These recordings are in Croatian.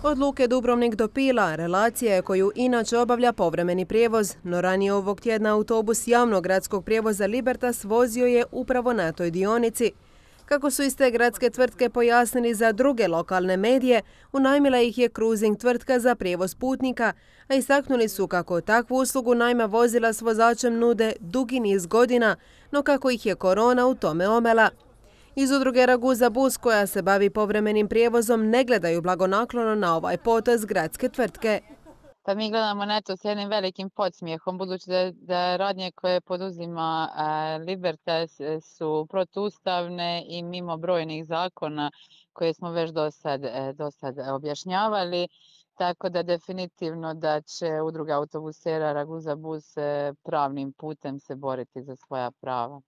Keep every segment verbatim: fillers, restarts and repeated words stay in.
Od Luke Dubrovnik do Pila relacija je koju inače obavlja povremeni prijevoz, no ranije ovog tjedna autobus javnog gradskog prijevoza Libertas vozio je upravo na toj dionici. Kako su iz te gradske tvrtke pojasnili za druge lokalne medije, unajmila ih je cruising tvrtka za prijevoz putnika, a istaknuli su kako takvu uslugu najma vozila s vozačem nude dugi niz godina, no kako ih je korona u tome omela. Iz udruge Raguza Bus, koja se bavi povremenim prijevozom, ne gledaju blagonaklono na ovaj potez gradske tvrtke. Pa mi gledamo na to s jednim velikim podsmijehom, budući da, da radnje koje poduzima a, Libertas su protuustavne i mimo brojnih zakona koje smo već do sad, do sad objašnjavali. Tako da definitivno da će udruga autobusera Raguza Bus pravnim putem se boriti za svoja prava.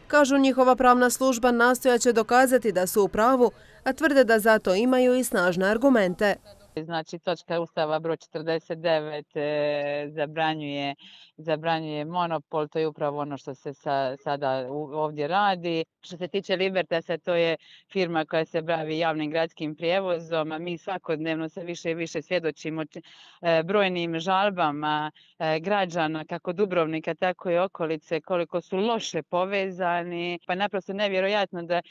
Kažu, njihova pravna služba nastojaće dokazati da su u pravu, a tvrde da zato imaju i snažne argumente. Znači, točka Ustava broj četrdeset devet e, zabranjuje, zabranjuje monopol, to je upravo ono što se sa, sada u, ovdje radi. Što se tiče Libertasa, to je firma koja se bavi javnim gradskim prijevozom, a mi svakodnevno se više i više svjedočimo e, brojnim žalbama e, građana, kako Dubrovnika, tako i okolice, koliko su loše povezani. Pa naprosto nevjerojatno da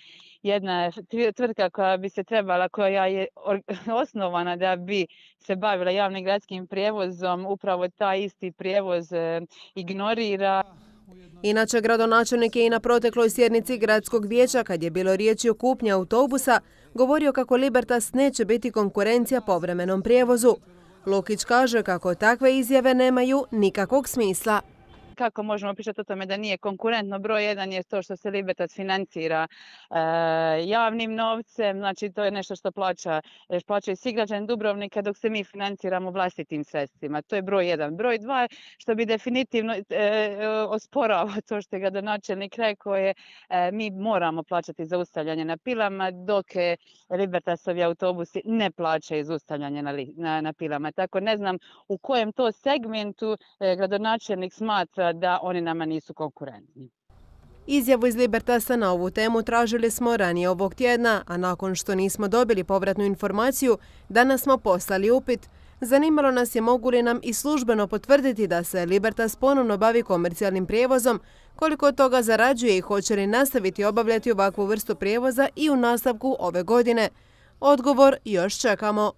jedna tvrtka koja bi se trebala, koja je osnovana da bi se bavila javnim gradskim prijevozom, upravo taj isti prijevoz ignorira. Inače, gradonačelnik je i na protekloj sjednici gradskog vijeća, kad je bilo riječi o kupnji autobusa, govorio kako Libertas neće biti konkurencija povremenom prijevozu. Lukić kaže kako takve izjave nemaju nikakvog smisla. Kako možemo pričati o tome da nije konkurentno? Broj jedan je to što se Libertas financira e, javnim novcem, znači to je nešto što plaća, plaćaju svi građani Dubrovnika, dok se mi financiramo vlastitim sredstvima. To je broj jedan. Broj dva, što bi definitivno e, osporava to što je gradonačelnik rekao, je e, mi moramo plaćati zaustavljanje na pilama, dok Libertasovi autobusi ne plaćaju zaustavljanje na, na, na pilama. Tako ne znam u kojem to segmentu e, gradonačelnik smatra da oni nama nisu konkurentni. Izjavu iz Libertasa na ovu temu tražili smo ranije ovog tjedna, a nakon što nismo dobili povratnu informaciju, danas smo poslali upit. Zanimalo nas je mogu li nam i službeno potvrditi da se Libertas ponovno bavi komercijalnim prijevozom, koliko od toga zarađuje i hoće li nastaviti obavljati ovakvu vrstu prijevoza i u nastavku ove godine. Odgovor još čekamo.